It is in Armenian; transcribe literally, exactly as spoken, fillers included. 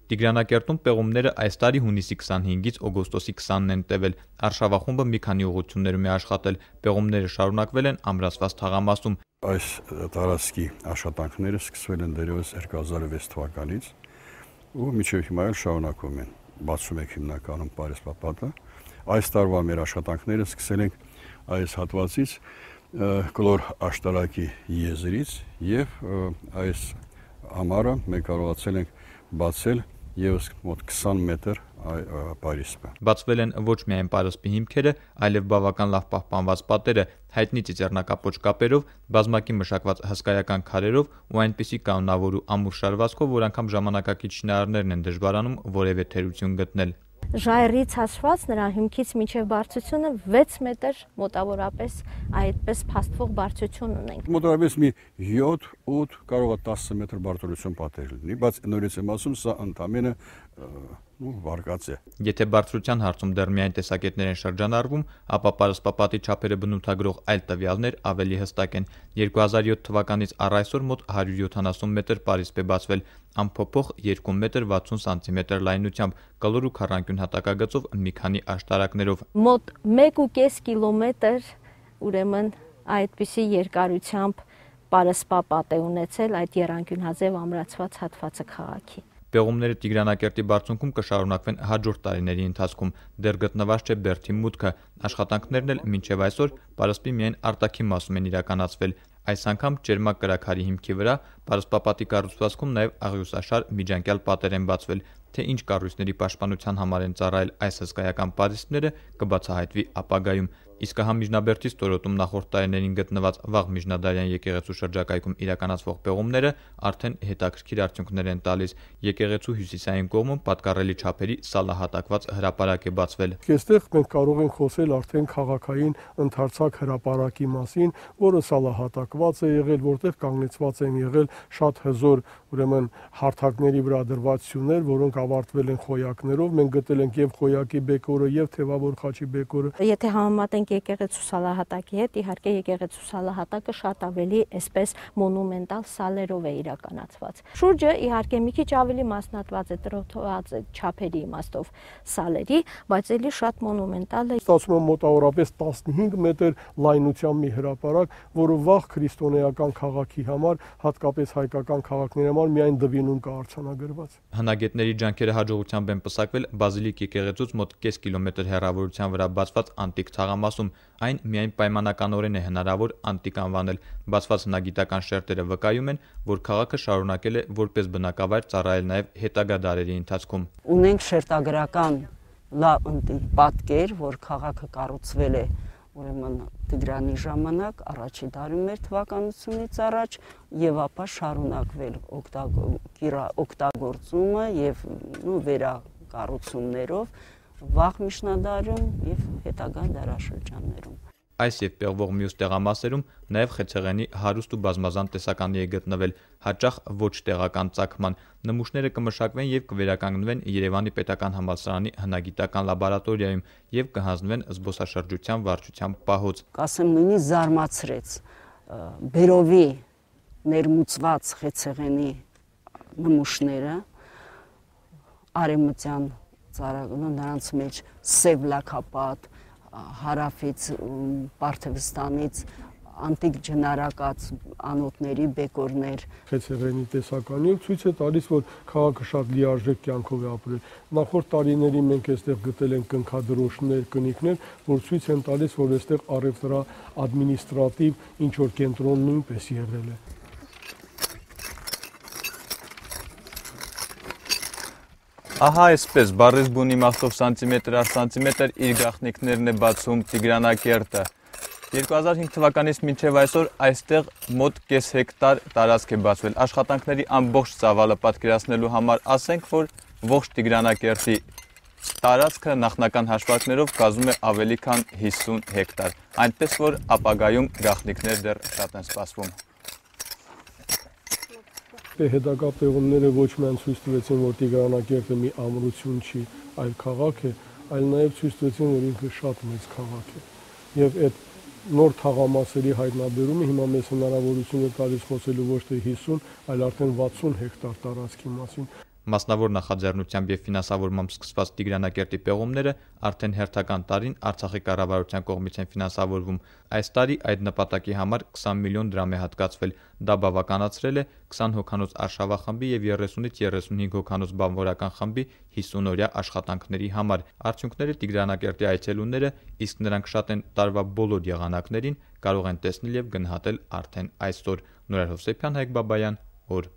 Տիգրանակերտում պեղումները այս տարի հունիսի քսանհինգից օգոստոսի քսանն են տևել։ Արշավախումբը մի քանի ուղղություններում է աշխատել։ Պեղումները շարունակվել են Ամրացված թաղամասում։ Այս տարածքի աշխատանքները սկսվել են դեռևս երկու հազար վեց թվականից ու մինչև հիմա էլ շարունակվում են։ Բացում եք հիմնականում Պարիսպապատը։ Այս տարվա մեր աշխատանքները սկսել ենք այս հատվածից կլոր աշտարակի եզրից եւ այս ամառը մենք կարողացել ենք բացել եւս մոտ քսան մետր պարիսպը։ Բացվել են ոչ միայն պարսպի հիմքերը, այլև բավական լավ պահպանված պատերը, հայտնի ծիծեռնակապոչ կապերով, բազմակի մշակված հսկայական քարերով ու այնպիսի կանոնավոր ու ամուր շարվածքով, որ անգամ ժամանակակից շինարարներն են դժվարանում որևէ թերություն գտնել։ Ժայռից հաշված նրա հիմքից մինչև բարձրությունը վեց մետր մոտավորապես այդպես փաստվող բարձրություն ունենք։ Մոտավորապես մի յոթ ութ կարող է տասը մետր բարձրություն պատեր լինի, բայց նորից եմ ասում, սա ընդամենը վարկած է։ Եթե բարձրության հարցում դեռ միայն տեսակետներ են շրջանառվում, ապա պարսպապատի չափերը բնութագրող այլ տվյալներ ավելի հստակ են։ երկու հազար յոթ թվականից առ այսօր մոտ հարյուր յոթանասուն մետր պարիսպ է բացվել, ամփոփող երկու մետր վաթսուն սանտիմետր լայնությամբ, կլոր ու քառանկյուն հատակագծով մի քանի աշտարակներով։ Մոտ մեկ ու կես կիլոմետր ուրեմն այդպիսի երկարությամբ պարսպապատ է ունեցել այդ եռանկյունհաձև ամրացված հատվածը քաղաքի։ Պեղումները Տիգրանակերտի բարձունքում կշարունակվեն հաջորդ տարիների ընթացքում։ Դեռ գտնված չէ բերդի մուտքը։ Աշխատանքներն էլ մինչև այսօր պարսպի միայն արտաքին մասում են իրականացվել։ Այս անգամ ճերմակ կրաքարի հիմքի վրա պարսպապատի կառուցվածքում նաև աղյուսաշար միջանկյալ պատեր են բացվել։ Թե ինչ կառույցների պաշտպանության համար են ծառայել այս հսկայական պարիսպները, կբացահայտվի ապագայում։ Իսկ հա Միջնաբերդի ստորոտում նախորդ տարիներին գտնված վաղ միջնադարյան եկեղեցու շրջակայքում իրականացվող պեղումները արդեն հետաքրքիր արդյունքներ են տալիս։ Եկեղեցու հյուսիսային կողմում պատկառելի չափերի սալահատակված հրապարակ է բացվել։ Այստեղ մենք կարող ենք խոսել արդեն քաղաքային ընդարձակ հրապարակի մասին, որը սալահատակված է եղել, որտեղ կանգնեցված են եղել շատ հզոր ուրեմն հարթակների վրա դրված սյուներ, որոնք ավարտվել են խոյակներով։ Մենք գտել ենք եւ խոյակի բեկորը, եւ թևավոր խաչի բեկորը։ Եթե համեմատենք եկեղեցու սալահատակի հետ, իհարկե եկեղեցու սալահատակը շատ ավելի այսպես մոնումենտալ սալերով է իրականացված։ Շուրջը իհարկե մի քիչ ավելի մասնատված է, տրոթված է չափերի իմաստով սալերի, բայց էլի շատ մոնումենտալ է։ Ստացվում է մոտավորապես տասնհինգ մետր լայնությամբ մի հրապարակ, որը վաղ քրիստոնեական քաղաքի համար, հատկապես հայկական քաղաքների համար միայն դվինում կա արձանագրված։ Հնագետների ջանքերը հաջողությամբ են պսակվել Բազիլիկ եկեղեցուց մոտ կես կիլոմետր հեռավորության վրա բացված անտիկ թաղամասում։ Այն միայն պայմանականորեն է հնարավոր անտիկ անվանել։ Բացված հնագիտական շերտերը վկայում են, որ քաղաքը շարունակել է որպես բնակավայր ծառայել նաև հետագա դարերի ընթացքում։ Ունենք շերտագրական լավ պատկեր, որ քաղաքը կառուցվել է ուրեմն Տիգրանի ժամանակ, առաջի դարում էր թվականությունից առաջ, եւ ապա շարունակվել օգտագործումը եւ վերակառուցումներով վաղ միջնադարում եւ հետագա դարաշրջաններում։ Այս եւ պեղվող մյուս տեղամասերում նաև խեցեղենի հարուստ ու բազմազան տեսականի է գտնվել, հաճախ ոչ տեղական ծագման։ Նմուշները կմշակվեն եւ կվերականգնվեն Երևանի պետական համալսարանի հնագիտական լաբորատորիայում եւ կհանձնվեն զբոսաշրջության վարչության պահոց։ Կասեմ նույնիսկ զարմացրեց բերովի ներմուծված խեցեղենի նմուշները արևմտյան ծառայողը նրանց մեջ սև լաքապատ հարավից Պարթևստանից անտիկ ջնարակած անոթների բեկորներ։ Խեցեղենի տեսականի ցույց է տալիս, որ քաղաքը շատ լիարժեք կյանքով է ապրել։ Նախորդ տարիների մենք այստեղ գտել ենք կնքադրոշներ, կնիկներ, որ ցույց են տալիս, որ այստեղ առևտրա ադմինիստրատիվ ինչ որ կենտրոն նույնպես եղել է։ Ահա այսպես բառից բուն իմաստով սանտիմետր առ սանտիմետր իր գաղտնիքներն է բացում Տիգրանակերտը։ երկու հազար հինգ թվականից մինչև այսօր այստեղ մոտ կես հեկտար տարածք է բացվել։ Աշխատանքների ամբողջ ծավալը պատկերացնելու համար ասենք, որ ողջ Տիգրանակերտի տարածքը նախնական հաշվարկներով կազմում է ավելի քան հիսուն հեկտար, այնպես որ ապագայում գաղտնիքներ դեռ շատ են սպասվում։ Հետագա պեղումները ոչ միայն ցույց տվեցին, որ Տիգրանակերտը մի ամրություն չի, այլ քաղաք է, այլ նաև ցույց տվեցին, որ ինքը շատ մեծ քաղաք է։ Եվ այդ նոր թաղամասերի հայտնաբերումը հիմա մեզ հնարավորություն է տալիս խոսելու ոչ թե հիսուն, այլ արդեն վաթսուն հեկտար տարածքի մասին։ Մասնավոր նախաձեռնությամբ եւ ֆինանսավորմամբ սկսված Տիգրանակերտի պեղումները արդեն հերթական տարին Արցախի կառավարության կողմից են ֆինանսավորվում։ Այս տարի այդ նպատակի համար քսան միլիոն դրամ է հատկացվել։ Դա բավականացրել է քսան հոգանոց արշավախմբի եւ երեսունից երեսունհինգ հոգանոց բանվորական խմբի հիսուն օրյա աշխատանքների համար։ Արդյունքները Տիգրանակերտի այցելուները, իսկ նրանք շատ են տարվա բոլոր եղանակներին, կարող են տեսնել եւ գնահատել արդեն այսօր։ Նուրար Հովսեփյան, Հայկ Բաբայան, օր